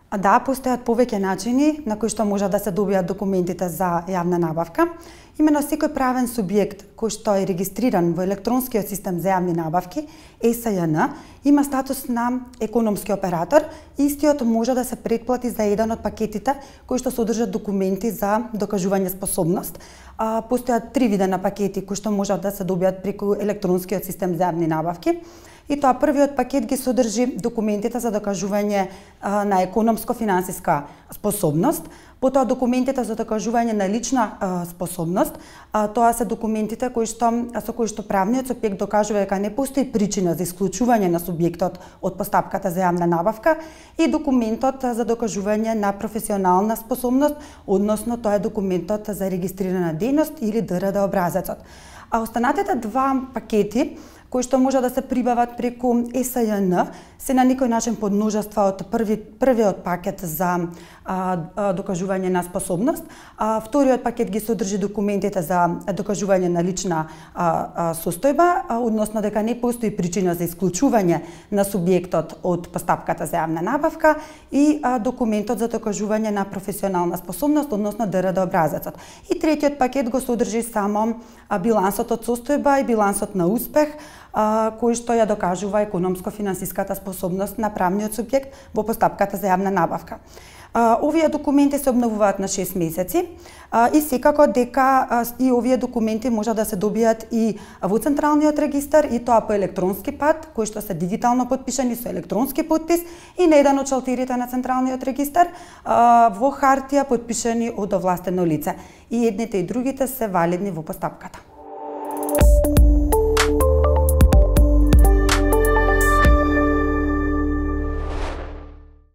Да, постојат повеќе начини на кои што може да се добијат документите за јавна набавка. Имено секој правен субјект кој што е регистриран во електронскиот систем за јавни набавки, ЕСЈН, има статус на економски оператор и истиот може да се претплати за еден од пакетите кои што содржат документи за докажување способност. Постојат 3 вида на пакети кои што можат да се добијат преку електронскиот систем за јавни набавки. И тоа првиот пакет ги содржи документите за докажување на економско-финансиска способност, потоа документите за докажување на лична способност. Тоа се документите со кои што правниот субјект докажува дека не постои причина за исклучување на субјектот од постапката за јавна набавка, и документот за докажување на професионална способност, односно тоа е документот за регистрирана дејност или ДРД образецот. А останатите 2 пакети кои што може да се прибават преку ЕСЈН се на некој начин подмножества од првиот пакет за докажување на способност. Вториот пакет ги содржи документите за докажување на лична состојба, односно дека не постои причина за исклучување на субјектот од постапката за јавна набавка, и документот за докажување на професионална способност, односно ДРД образецот. И третиот пакет го содржи само билансот од состојба и билансот на успех, кој што ја докажува економско-финансиската способност на правниот субјект во постапката за јавна набавка. Овие документи се обновуваат на 6 месеци и секако дека и овие документи може да се добијат и во Централниот регистар, и тоа по електронски пат, кои што се дигитално потпишани со електронски потпис, и на еден од шалтерите на Централниот регистар во хартија потпишани од овластено лице. И едните и другите се валидни во постапката.